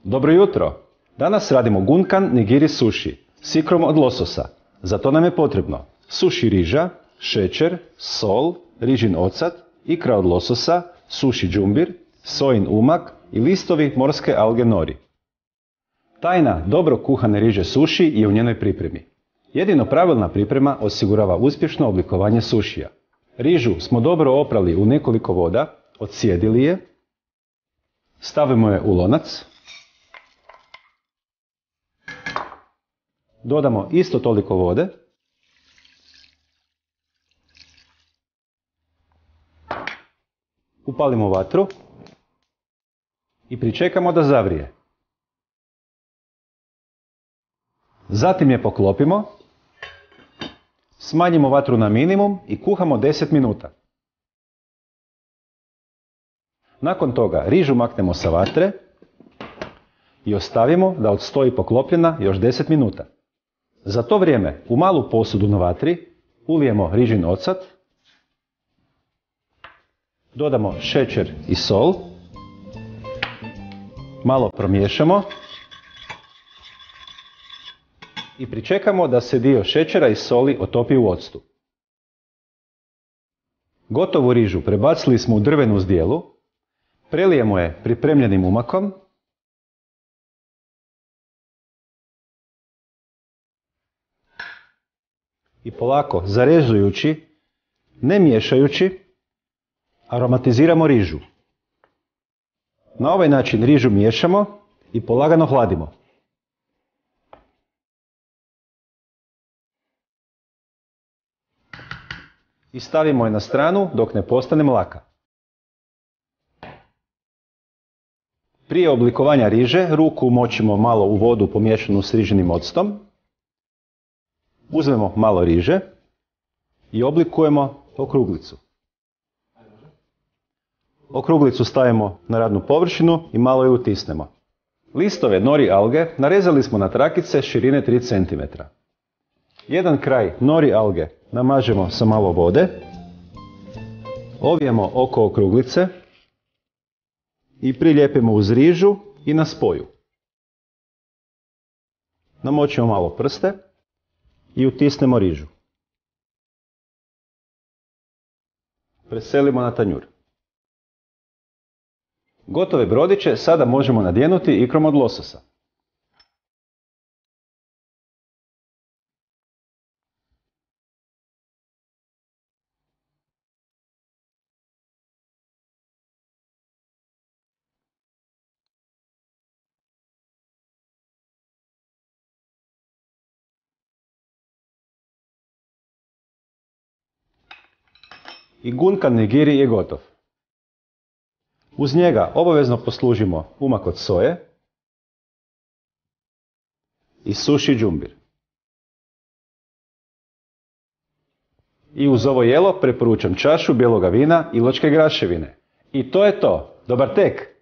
Dobro jutro! Danas radimo gunkan nigiri sushi s ikrom od lososa. Za to nam je potrebno sushi riža, šećer, sol, rižin ocat, ikra od lososa, sushi džumbir, sojin umak i listovi morske alge nori. Tajna dobro kuhane riže sushi je u njenoj pripremi. Jedino pravilna priprema osigurava uspješno oblikovanje sušija. Rižu smo dobro oprali u nekoliko voda, odsjedili je, stavimo je u lonac, dodamo isto toliko vode, upalimo vatru i pričekamo da zavrije. Zatim je poklopimo, smanjimo vatru na minimum i kuhamo 10 minuta. Nakon toga rižu maknemo sa vatre i ostavimo da odstoji poklopljena još 10 minuta. Za to vrijeme u malu posudu na vatri ulijemo rižin ocat, dodamo šećer i sol, malo promiješamo i pričekamo da se dio šećera i soli otopi u octu. Gotovu rižu prebacili smo u drvenu zdjelu, prelijemo je pripremljenim umakom i polako zarezujući, ne miješajući, aromatiziramo rižu. Na ovaj način rižu miješamo i polagano hladimo. I stavimo je na stranu dok ne postane mlaka. Prije oblikovanja riže ruku umočimo malo u vodu pomiješanu s rižinim octom. Uzmemo malo riže i oblikujemo okruglicu. Okruglicu stavimo na radnu površinu i malo ju utisnemo. Listove nori alge narezali smo na trakice širine 3 cm. Jedan kraj nori alge namažemo sa malo vode, ovijemo oko okruglice i prilijepimo uz rižu i na spoju. Namočimo malo prste i utisnemo rižu. Preselimo na tanjur. Gotove brodiće sada možemo nadjenuti ikrom od lososa. I gunkan nigiri je gotov. Uz njega obavezno poslužimo umak od soje i sushi džumbir. I uz ovo jelo preporučam čašu bijeloga vina i ločke graševine. I to je to. Dobar tek!